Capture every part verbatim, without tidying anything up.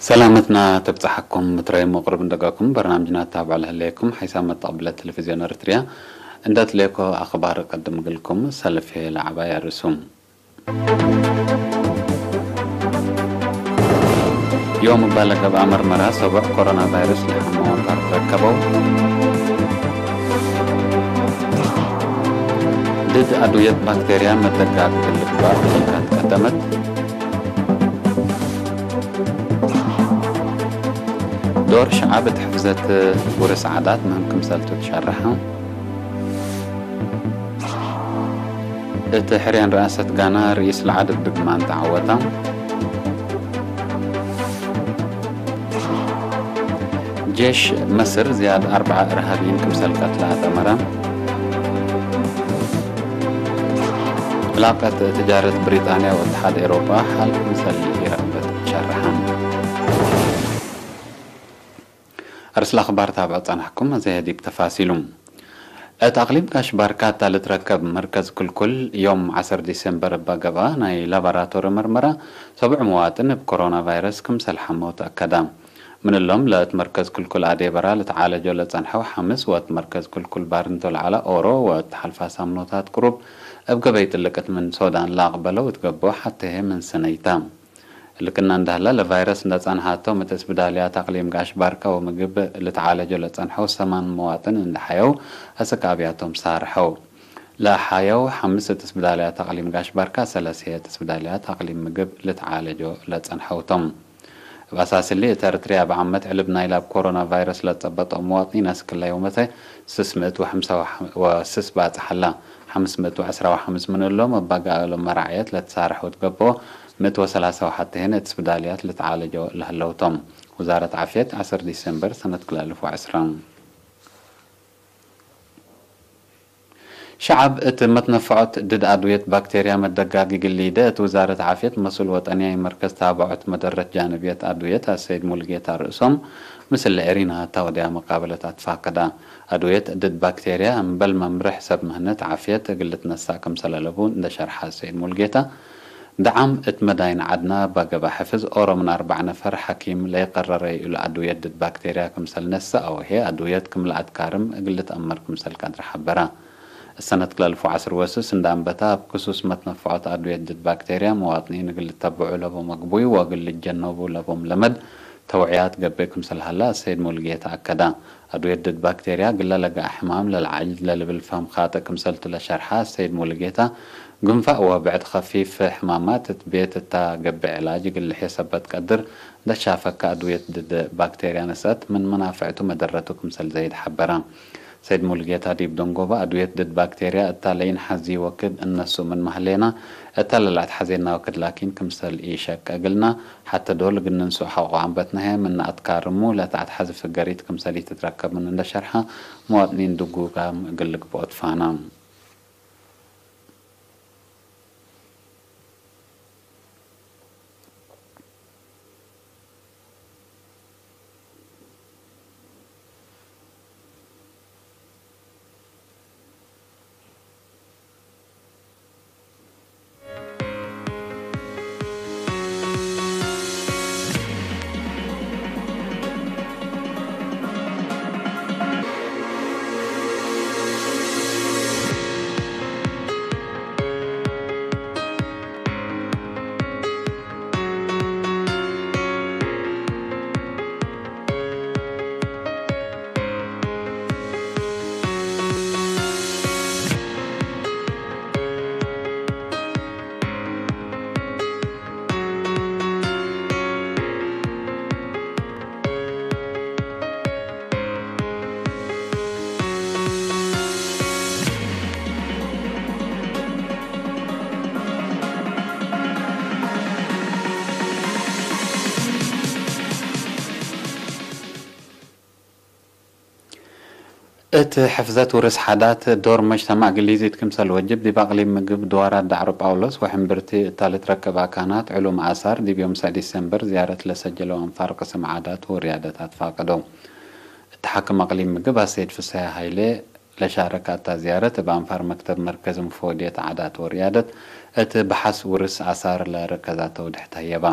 ሰላመትና ትብጸሐኩም፣ ምትረይም ወቅሩብ እንደጋኩም በርናምጅና ታብዕ ለህሌኩም፣ ሐይሳም መተቅብለ ቴሌቪዝዮን ኤረትርያ እንደ ትሌኮ አኽባር እቀድም እግልኩም፣ ሰልፍ ህዬ ለዐባይ አርእሱም። ዮም እባ ለገብአ መርመራ ሰቡዕ ኮሮና ቫይረስ ለሐመ ወንፋር ትረከበው። ድድ አድውየት ባክቴርያ መደጋግ እግል ልግባእ ክሊኒካት ቀደመት። ዶር ሸዐብ እት ሕፍዘት ውርስ ዓዳት ምህም ክምሰልቱ ትሸርሐ። እት ሕርያን ረአሰት ጋና ርኢስ ለዐድ እብ ድግማን ተዐወታ። ጄሽ መስር ዝያድ አርበዐ እርሃብይን ክምሰል ቀትለ አተመረ። ዕላቀት ትጃረት ብሪጣንያ ወእትሓድ ኤውሮጳ ሐል ክምሰል ኢረክበት ሸርሐ። አርእስ ለአኽባር ታብዖ ጸናሕኩም፣ አዜ ዲብ ተፋሲሉ። እት አቅሊም ጋሽ ባርካ እታ ልትረከብ መርከዝ ክልኩል፣ ዮም ዐሰር ዲሴምበር እበ ገብአ ናይ ላቦራቶሪ መርመራ፣ ሰቡዕ መዋጥን እብ ኮሮና ቫይረስ ክምሰል ሐመው ተአከዳ። ምን እሎም ለእት መርከዝ ክልኩል አዴ በራ ልትዓለጆ ለጸንሐው ሐምስ ወእት መርከዝ ክልኩል ባርንቶ ለዐለ ኦሮ ወእት ሐልፋ ሳምኖታት ቅሩብ እብ ገበይ ጥልቅት ምን ሶዳን ለአቅበለው እት ገብኦ ሐቴ ህዬ ምን ስነይታ። እሊ ክእነ እንደ ሀለ፣ ለቫይረስ እንደ ጸንሐቶም እት እስብዳልያት አቅሊም ጋሽ ባርካ ወምግብ ልትዓለጆ ለጸንሐው ሰማን መዋጥን እንደ ሐየው አስክ አብያቶም ሳርሐው። ለሐየው ሐምስ እት እስብዳልያት አቅሊም ጋሽ ባርካ፣ ሰለስ ህዬ እት እስብዳልያት አቅሊም ምግብ ልትዓለጆ ለጸንሐው ቶም። እብ አሳስ እሊ፣ እት ኤረትርያ እብ ዓመት ዕልብ ናይላ እብ ኮሮና ቫይረስ ለጸበጠው መዋጥኒን አስክ እለ ዮመተ ስስ ምእት ወሐምሳ ወስስ ባጽሕ ሀላ። ሐምስ ምእት ወዐስራ ወሐምስ ምን እሎም እብ አጋእሎም መራዕየት ለትሳርሐው እት ገብኦ፣ ምእት ወሰላሳ ወሐቴ ህን እት እስብዳልያት ልትዓለጆ ለህለው ቶም። ውዛረት ዓፍየት፣ ዐሰር ዲሴምበር ሰነት ክልኤ አልፍ ወዐስራ። ሸዐብ እት መትነፈዖት ድድ አድውየት ባክቴርያ መደጋግ እግል ሊደ፣ እት ውዛረት ዓፍየት መስኡል ወጠንያይ መርከዝ ታብዖት መደረት ጃንብየት አድውየት አሰይድ ሙሉጌታ ርእሶም፣ ምስል ኤሪና እታ ወድያ መቃበለት አትፋቀዳ። አድውየት ድድ ባክቴርያ እምበል መምርሕ ሰብ ምህነት ዓፍየት እግል ልትነሳእ ክምሰል አለቡ እንደ ሸርሐ አሰይድ ሙሉጌታ፣ ደዓም እት መዳይን ዐድና እባ ገብአ ሕፍዝ ኦሮ ምን አርበዕ ነፈር ሐኪም ለይቀረረ እሉ አድውየት ድድ ባክቴርያ ክምሰል ነስአ ወህዬ አድውየት ክም ለአትካርም እግል ልትአመር ክምሰል ቀድር ሐበረ። እሰነት ክልኤ አልፍ ወዐስር ወስስ እንደ አንበታ እብ ክሱስ መትነፈዖት አድውየት ድድ ባክቴርያ መዋጥኒን እግል ልተብዑ ለቦ መግቡይ ወእግል ልጀነቡ ለቦም ለመድ ተውዕያት ገብእ ክምሰል ሀላ አሰይድ ሙሉጌታ አከዳ። አድውየት ድድ ባክቴርያ እግለ ለገአ ሕማም ለለዓልጅ ለልብል ፈህም ካጥእ ክምሰልቱ ለሸርሐ አሰይድ ሙሉጌታ፣ ግንፋእ ወብዕድ ከፊፍ ሕማማት እት ቤት እታ ገብእ ዕላጅ እግል ልሕየ ሰበት ቀድር ለትሻፈከ አድውየት ድድ ባክቴርያ ነስአት ምን መናፍዕቱ መደረቱ ክምሰል ዘይድ ሐበረ። ሰይድ ሙሉጌታ ዲብ ደንጎበ አድውየት ድድ ባክቴርያ እታ ለኢንሐዚ ወክድ እነስኡ ምንመ ህሌና፣ እተ ለለአትሐዜና ወክድ ላኪን ክምሰል ኢሸቅ እግልና፣ ሐተ ዶል እግል ንንስኡ ሐቆ አንበትነ ህዬ ምነ አትካርሙ ለተአትሐዚ ፍገሪት ክምሰል ኢትትረከብ ምን እንደ ሸርሐ፣ መዋጥኒን ድጉጋም እግል ልግብኦ ትፋና። እት ሕፍዘት ውርስ ሐዳት ዶር መጅተማዕ እግል ሊዚድ ክምሰል ወጅብ፣ ዲብ አቅሊም ምግብ ድዋራት ዳዕሮ ጳውሎስ ወሕምብርቲ እታ ልትረከብ አካናት ዕሉም አሳር፣ ዲብ ዮም ሰዕ ዲሴምበር ዝያረት ለሰጀለው አንፋር ቅስም ዓዳት ወርያደት አትፋቀደው። እት ሓክም አቅሊም ምግብ አሰይድ ፍሰሐ ሀይሌ ለሻረከ እታ ዝያረት፣ እብ አንፋር መክተብ መርከዝ ምፎድየት ዓዳት ወርያደት እት በሐስ ውርስ አሳር ለረከዛተ ውድሕት ህየባ።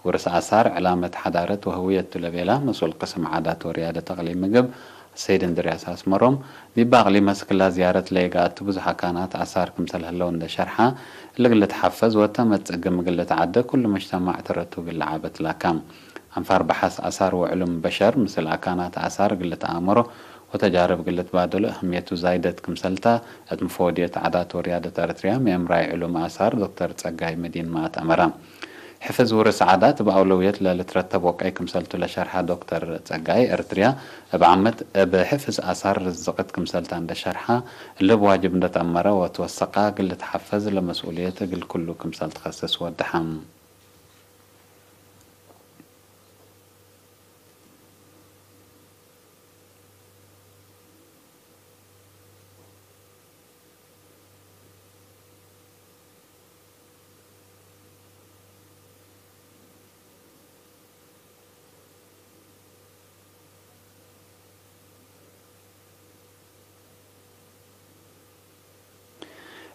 ውርስ አሳር ዕላመት ሐዳረት ወህውየት ቱ ለቤላ መስኡል ቅስም ዓዳት ወርያደት አቅሊም ምግብ አሰይድ እንድርያስ አስመሮም፣ ዲብ አቅሊም አስክላ ዝያረት ለኢገአቱ ብዙሕ አካናት አሳር ክምሰል ህለው እንደ ሸርሐ፣ እሊ እግል ልትሐፈዝ ወተመጽእ ግም እግል ልትዓደ ኩሉ መጅተማዕ ተረቱ እግል ለዓበት ላካም። አንፋር በሐስ አሳር ወዕሉም በሸር ምስል አካናት አሳር እግል ልትአመሮ ወተጃርብ እግል ልትባደሎ እህምየቱ ዛይደት ክምሰልታ፣ እት ምፎድየት ዓዳት ወርያደት ኤረትርያ ምእምራይ ዕሉም አሳር ዶክተር ጸጋይ መዲንማ አትአመረ። ሕፍዝ ውርስ ዓዳት እብ አውለውየት ለልትረተብ ወቀይ ክምሰልቱ ለሸርሐ ዶክተር ጸጋይ፣ ኤረትርያ እብ ዓመት እብ ሕፍዝ አሳር ርዝቅት ክምሰልታ እንደ ሸርሐ፣ እሊ እብ ዋጅብ እንደ ተአመረ ወትወሰቃ እግል ልትሐፈዝ ለመስኡልየት እግል ኩሉ ክምሰል ትከስስ ወደሐ።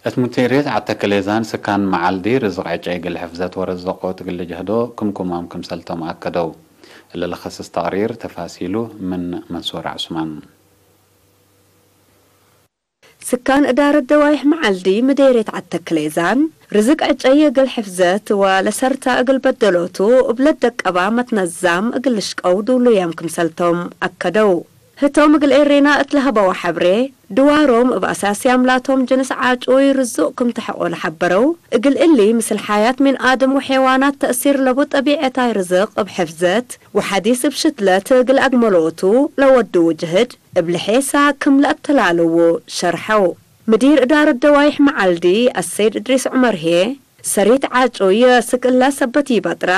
እት ሙዲርየት ዐተከሌዛን ስካን መዓልዲ ርዝቅ ዕጨይ እግል ሕፍዘት ወረዘቆት እግል ልጅህዶ ክምኩማም ክምሰልቶም አከደው። እሊ ለከስስ ተቅሪር ተፋሲሉ ምን መንሱር ዐስማን። ስካን እዳረት ደዋይሕ መዓልዲ ምዴርየት ዐተክሌዛን፣ ርዝቅ ዕጨይ እግል ሕፍዘት ወለሰርታ እግል በደሎቱ እብ ለደቀባ መትነዛም እግል ልሽቀው ዱሉያም ክምሰልቶም አከደው። ህቶም እግል ኤሬና እት ለሀበወ ሐብሬ፣ ድዋሮም እብ አሳስያም ላቶም ጅንስ ዓጩይ ርዙቅ ክም ተሐቆ ለሐበረው፣ እግል እሊ ምስል ሐያት ምን አድም ወሔዋናት ተእሲር ለቡ ጠቢዐታይ ርዝቅ እብ ሕፍዘት ወሐዲስ እብ ሽትለት እግል አግመሎቱ ለወድዉ ጅህድ፣ እብ ለሔሳ ክም ለአተላልዉ ሸርሐው። ምዲር እዳረት ደዋይሕ መዓልዲ አሰይድ እድሪስ ዑመር ህዬ፣ ሰሪት ዓጩይ ስክ እላ ሰበት ኢበጥራ፣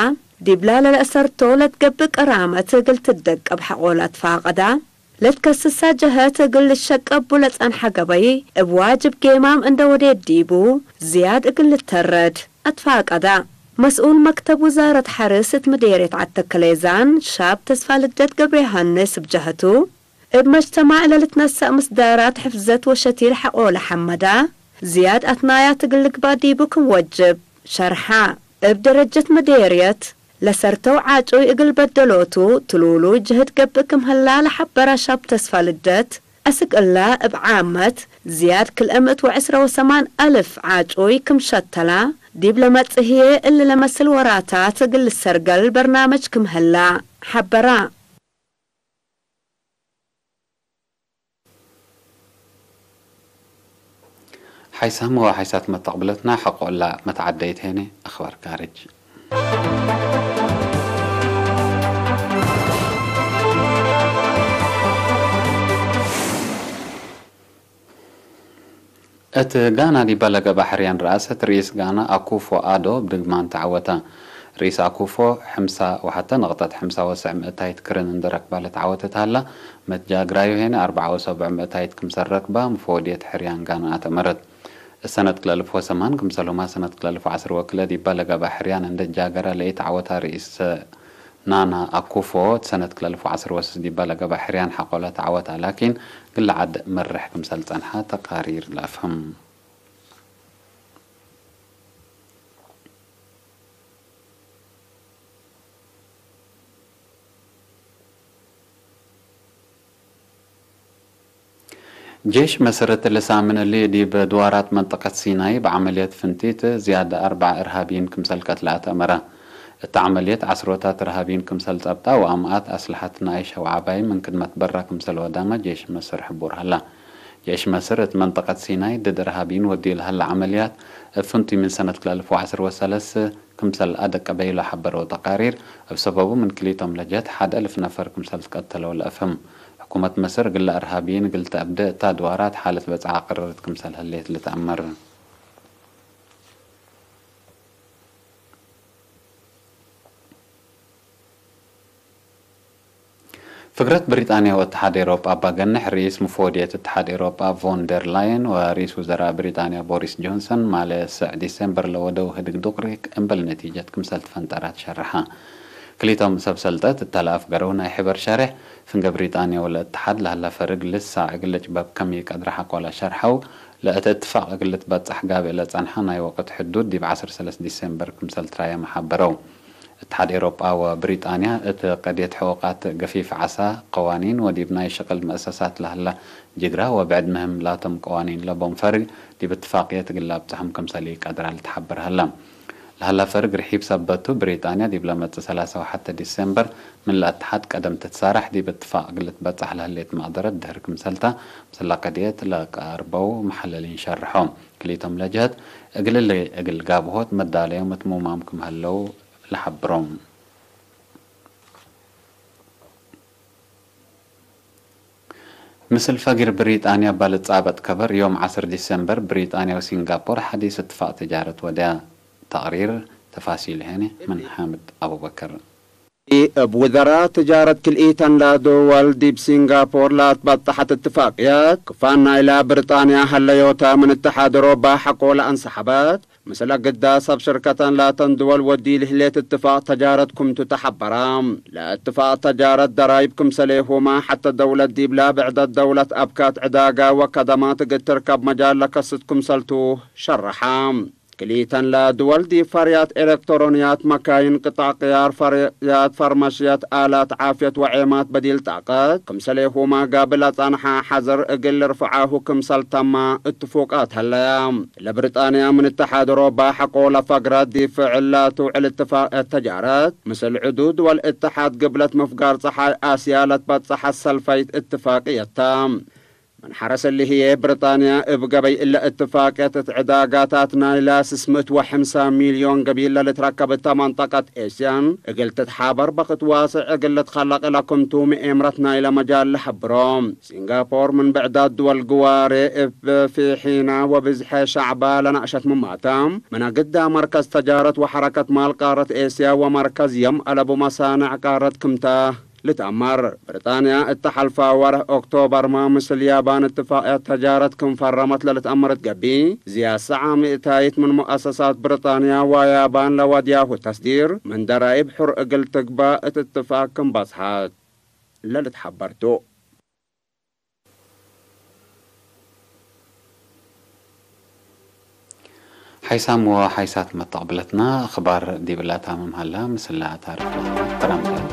ዲብላ ለለአሰርቶ ለትገብእ ቀራመት እግል ትደቀብ ሐቆ ለአትፋቀዳ፣ ለትከስሳ ጀሀት እግል ልሸቀቡ ለጸንሐ ገበይ፣ እብ ዋጅብ ጌማም እንደ ወዴት ዲቡ ዝያድ እግል ልተረድ አትፋቀዳ። መስኡል መክተብ ውዛረት ሐርስ እት ምዴርየት ዐተከሌዛን ሻብ ተስፋልደት ገብረዮሐንስ እብ ጀሀቱ፣ እብ መጅተማዕ ለልትነሰእ ምስዳራት ሕፍዘት ወሸቲል ሐቆ ለሐመዳ፣ ዝያድ አትናያት እግል ልግባእ ዲቡ ክም ወጅብ ሸርሐ። እብ ደረጀት ምዴርየት፣ ለሰርተው ዓጩይ እግል በደሎቱ ትሉሉይ ጅህድ ገብእ ክም ህላ ለሐበረ ሻብ ተስፋልደት፣ አስክ እላ እብ ዓመት ዝያድ ክልኤ ምእት ወዕስረ ወሰማን አልፍ ዓጩይ ክም ሸተላ፣ ዲብ ለመጽእ ህዬ እሊ ለመስል ወራታት እግል ልሰርገል በርናመጅ ክም ህላ ሐበራ። ሓይሳም ወሓይሳት መተቅብለትና ሐቆ እላ መትዓደይት ሄነ። አኽባር ካርጅ። እት ጋና ዲባ ለገብአ ሕርያን ረአሰት ርኢስ ጋና አኩፎ አዶ እብ ድግማን ተዐወተ። ርኢስ አኩፎ፣ ሕምሳ ወሐተ ነቅጠት ሕምሳ ወሰዕ ምእታይት ክርን እንዴ ረክባ ለተዐወተ ተሀላ፣ መትጃግራዩ ሄነ አርበዓ ወሰብዕ ምእታይት ክምሰል ረክባ፣ ምፎወድየት ሕርያን ጋና አተመረት። እሰነት ክልኤ አልፍ ወሰማን ክምሰልሁማ ሰነት ክልኤ አልፍ ወዐስር ወክልኤ ዲባ ለገብአ ሕርያን እንዴ ጃገረ ለኢተዐወታ ርኢስ ናና አኩፎ፣ እት ሰነት ክልኤ አልፍ ወዐስር ወስስ ዲባ ለገብአ ሕርያን ሐቆ ለተዐወታ ላኪን፣ ግለ ዐድ መርሕ ክምሰል ጸንሐ ተቃሪር ለአፍህም። ጄሽ መስር እትሊ ሳምን እሊ ዲብ ድዋራት መንጠቀት ሲናይ እብ ዐመልየት ፍንቲት ዝያድ አርበዕ እርሃብይን ክምሰል ቀትለ አትአመረ። እት ዐመልየት ዐስሮታት እርሃብይን ክምሰል ጸብጣ ወአምአት አስለሐት ናይ ሸውዓባይ ምን ክድመት በራ ክምሰል ወዳመ ጄሽ መስር ሕቡር ሀላ። ጄሽ መስር እት መንጠቀት ሲናይ ድድ እርሃብይን ወድዩ ለሀለ ዐመልያት እብ ፍንቱይ ምን ሰነት ክልኤ አልፍ ወዐስር ወሰለስ ክምሰል አደቀበዩ ለሐበረው ተቃሪር፣ እብ ሰበቡ ምን ክሊቶም ለጀህት ሐድ አልፍ ነፈር ክምሰል ትቀተለው ለአፍህም። ሕኩመት መስር እግለ እርሃብይን እግል ተአብዴ እታ ድዋራት ሓለት በጽዓ ቀረረት ክምሰል ህሌት ልትአመር። ፍግረት ብሪጣንያ ወእትሓድ ኤሮጳ እባ ገንሕ፣ ርኢስ ምፎድየት እትሓድ ኤሮጳ ቮን ደር ላየን ወርኢስ ውዘራእ ብሪጣንያ ቦሪስ ጆንሰን፣ ማለ ሰዕ ዲሴምበር ለወደው ህድግ ዱቅሪክ እምበል ነቲጀት ክምሰል ትፈንጠራት ሸርሐ። ክሊቶም ሰብ ሰልጠት እተ ለአፍገረው ናይ ሕበር ሸሬሕ፣ ፍንገ ብሪጣንያ ወለእትሓድ ለሀላ ፈርግ ልሳዕ እግል ልጭበብ ከም ኢቀድረ ሐቆለ ሸርሐው፣ ለእተ እትፋቅ እግል ልትበጸሕ ጋብእ ለጸንሐ ናይ ወቅት ሕዱድ ዲብ ዐስር ሰለስ ዲሴምበር ክምሰል ትራየመ ሐበረው። እትሓድ ኤሮጳ ወብሪጣንያ እት ቀድየት ሕቁቃት ገፊፍ ዓሳ ቀዋኒን ወዲብ ናይ ሽቅል መአሰሳት ለሀላ ጅግራ ወብዕድ ምህም ላቶም ቀዋኒን ለቦም ፈርግ ዲብ እትፋቅየት እግል ለአብጽሖም ክምሰል ኢቀድራ ልትሓበር ሀላ። ለሀላ ፈርግ ርሒብ ሰበት ቱ፣ ብሪጣንያ ዲብ ለመጽእ ሰላሳ ወሐተ ዲሴምበር ምን ለእትሓድ ቀደም ትትሳራሕ ዲብ እትፋቅ እግል ልትበጸሕ ለህሌት መቅደረት ድህር ክምሰልታ፣ ምስለ ቀድየት ለቀርበው መሐለሊን ሸርሖ። ክሊቶም ለጀህት እግል እሊ እግል ጋብሆት መዳለዮም እት ሙማም ክም ሀለው ለሐብሮም። ምስል ፈግር ብሪጣንያ እባ ልጻበጥ ከበር፣ ዮም ዐስር ዲሴምበር ብሪጣንያ ወሲንጋፖር ሐዲስ እትፋቅ ትጃረት ወድያ። ተቅሪር ተፋሲል ሄነ ምን ሓምድ አቡበከር። እብ ውዘራ ትጃረት ክልኢተን ለድወል ዲብ ሲንጋፖር ለአትበጠሐት እትፋቅየት፣ ክፋን ናይላ ብርጣንያ ሀለዮተ ምን እትሓድ ኦሮባ ሐቆ ለአንሰሐበት፣ ምስለ ግዳ ሰብ ሽርከተን ላተን ድወል ወዲል ህሌት እትፋቅ ተጃረት ክምቱ ተሐበረ። ለእትፋቅ ተጃረት ደራይብ ክምሰሌሁመ ሐተ ደውለት ዲብላ ብዕደት ደውለት አብካት ዕዳጋ ወከደማት እግል ትርከብ መጃል ለከስት ክምሰልቱ ሸረሐ። ክልኢተን ለድወል ዲብ ፈርያት ኤለክትሮንያት፣ መካይን፣ ቅጣዕ ቅያር፣ ፈርያት፣ ፈርመሽየት፣ አላት ዓፍየት ወዔማት በዲል ጣቀት ክምሰሌሁመ ጋብል አጸንሐ ሐዘር እግል ልርፍዓሁ ክምሰል ተመ እትፉቃት ሀለያ። ለብሪጣንያ ምን እትሓድ ኦሮባ ሐቆ ለፈግረት ዲብ ፍዕል ለትውዕል እትፋቅየት ተጃረት፣ ምስል ዕዱድ ድወል እትሓድ ግብለት ምፍጋር ጸሓይ አስያ ለትበጸሐት ሰልፈይት እትፋቅየት ተ። ምን ሐረስ እሊ ህዬ፣ ብሪጣንያ እብ ገበይ እለ እትፋቅየት እት ዕዳጋታት ናይላ ስስ ምእት ወሐምሳ ሚልዮን ገቢል ለልትረከብ እተ መንጠቀት ኤስያን እግል ትትሓበር በክት ዋስዕ እግል ልትከለቅ እለ ክምቱ ምኤምረት ናይለ መጃል ለሐብሮ። ሲንጋፖር ምን ብዕዳት ድወል ግዋሬ እብ ፊሒና ወብዝሐ ሸዕባ ለነአሸት ምማተ፣ ምን አግዳ መርከዝ ተጃረት ወሐረከት ማል ቃረት ኤስያ ወመርከዝ የም አለቡ መሳንዕ ቃረት ክምተ ልትአመር። ብሪጣንያ እተ ሐልፋ ወርሕ ኦክቶበርመ ምስል ያባን እትፋቅየት ተጃረት ክም ፈረመት ለልትአመር እት ገብእ፣ ዝያድ ሰዓ ምእታይት ምን ሙአሰሳት ብሪጣንያ ወያባን ለወድያሁ ተስዲር ምን ደራይብ ሑር እግል ትግባእ እት እትፋቅ ክም በጽሐት ለልትሐበር ቱ። ሓይሳም ወሓይሳት መተቅብለትና፣ አኽባር ዲብላ ታምም ሀላ፣ ምስላ ታርፍ ለሀላ ተራምተ።